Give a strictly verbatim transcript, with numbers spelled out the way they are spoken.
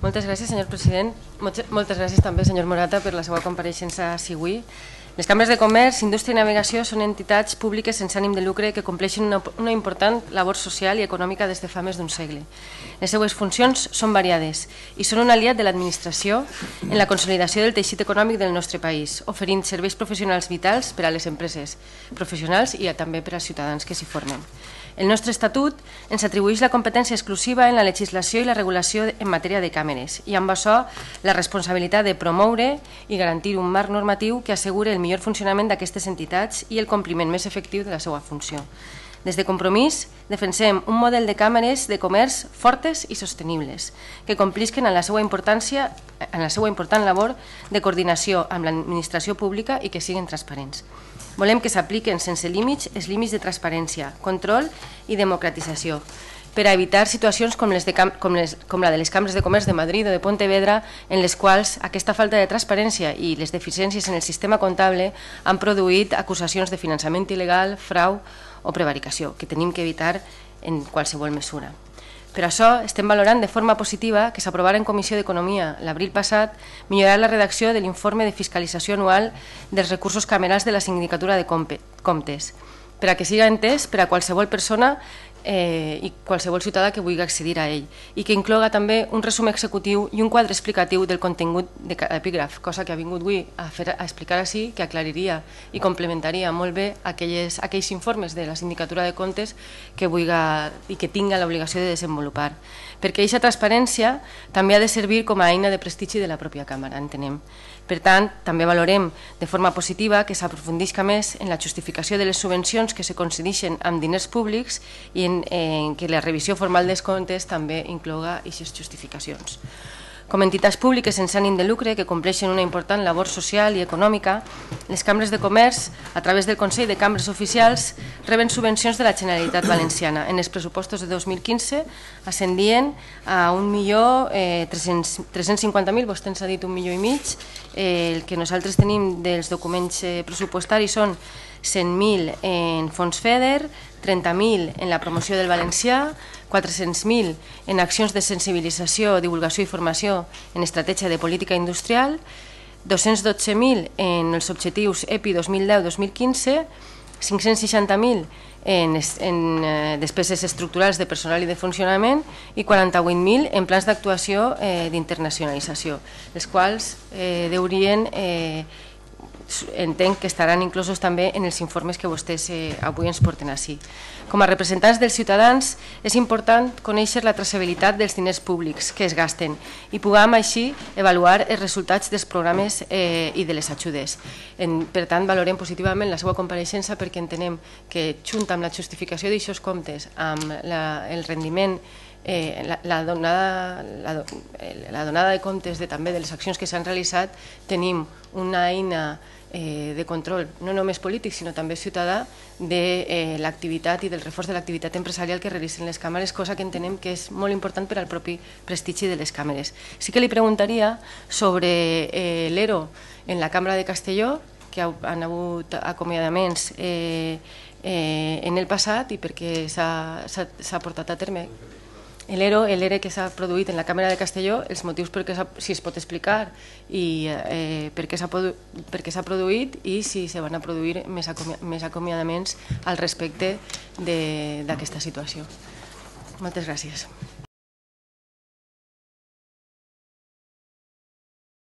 Moltes gràcies, senyor president. Moltes gràcies també, senyor Morata, per la seva compareixença avui. Les cambres de comerç, indústria i navegació són entitats públiques sense ànim de lucre que compleixen una, una important labor social i econòmica des de fa més d'un segle. Les seues funcions són variades i són un aliat de l'administració en la consolidació del teixit econòmic del nostre país, oferint serveis professionals vitals per a les empreses professionals i també per als ciutadans que s'hi formen. El nostre Estatut ens atribueix la competència exclusiva en la legislació i la regulació en matèria de càmeres i amb això la responsabilitat de promoure i garantir un marc normatiu que assegure el millor funcionament d'aquestes entitats i el compliment més efectiu de la seva funció. Des de Compromís defensem un model de càmeres de comerç fortes i sostenibles que complisquen en la seva importància, en la seva important labor de coordinació amb l'administració pública i que siguin transparents. Volem que s'apliquen sense límits els límits de transparència, control i democratització per a evitar situacions com, les de, com, les, com la de les cambres de comerç de Madrid o de Pontevedra, en les quals aquesta falta de transparència i les deficiències en el sistema comptable han produït acusacions de finançament il·legal, frau o prevaricació, que tenim que evitar en qualsevol mesura. Per això estem valorant de forma positiva que s'aprovarà en Comissió d'Economia l'abril passat millorar la redacció de l'informe de fiscalització anual dels recursos camerals de la Sindicatura de Comptes, per a que siga entès per a qualsevol persona eh, i qualsevol ciutadà que vulgui accedir a ell i que incloga també un resum executiu i un quadre explicatiu del contingut de cada epígraf, cosa que ha vingut avui a, fer, a explicar així, que aclariria i complementaria molt bé aquelles, aquells informes de la Sindicatura de Comptes que vulgui i que tinga l'obligació de desenvolupar. Perquè aquesta transparència també ha de servir com a eina de prestigi de la pròpia Càmera, entenem. Per tant, també valorem de forma positiva que s'aprofundisca més en la justificació de les subvencions que se concedeixen amb diners públics i en, en que la revisió formal dels comptes també incloga aquestes justificacions. Com a entitats públiques sense ànim de lucre que compleixen una important labor social i econòmica, les cambres de comerç, a través del Consell de Cambres Oficials, reben subvencions de la Generalitat Valenciana. En els pressupostos de dos mil quinze ascendien a un milió tres-cents cinquanta mil, vostè ens ha dit un milió i mig. El que nosaltres tenim dels documents pressupostaris són cent mil en fons FEDER, trenta mil en la promoció del valencià, quatre-cents mil en accions de sensibilització, divulgació i formació en estratègia de política industrial, dos-cents dotze mil en els objectius E P I dos mil deu dos mil quinze, cinc-cents seixanta mil en, en eh, despeses estructurals de personal i de funcionament i quaranta-vuit mil en plans d'actuació eh, d'internacionalització, els quals eh, deurien eh, entenc que estaran inclosos també en els informes que vostès eh, avui ens porten així. Com a representants dels ciutadans és important conèixer la traçabilitat dels diners públics que es gasten i puguem així avaluar els resultats dels programes eh, i de les ajudes. En, per tant, valorem positivament la seva compareixença perquè entenem que junt amb la justificació d'aixòs comptes, amb la, el rendiment Eh, la, la, donada, la, la donada de comptes de, també de les accions que s'han realitzat, tenim una eina eh, de control, no només polític, sinó també ciutadà, de eh, l'activitat i del reforç de l'activitat empresarial que realitzen les càmeres, cosa que entenem que és molt important per al propi prestigi de les càmeres. Sí que li preguntaria sobre eh, l'E R O en la Cambra de Castelló, que han hagut acomiadaments eh, eh, en el passat i per què s'ha portat a terme. L'E R O, l'E R E que s'ha produït en la Càmera de Castelló, els motius per què si es pot explicar i eh, per què s'ha produït i si se van a produir més, acomi més acomiadaments al respecte d'aquesta situació. Moltes gràcies.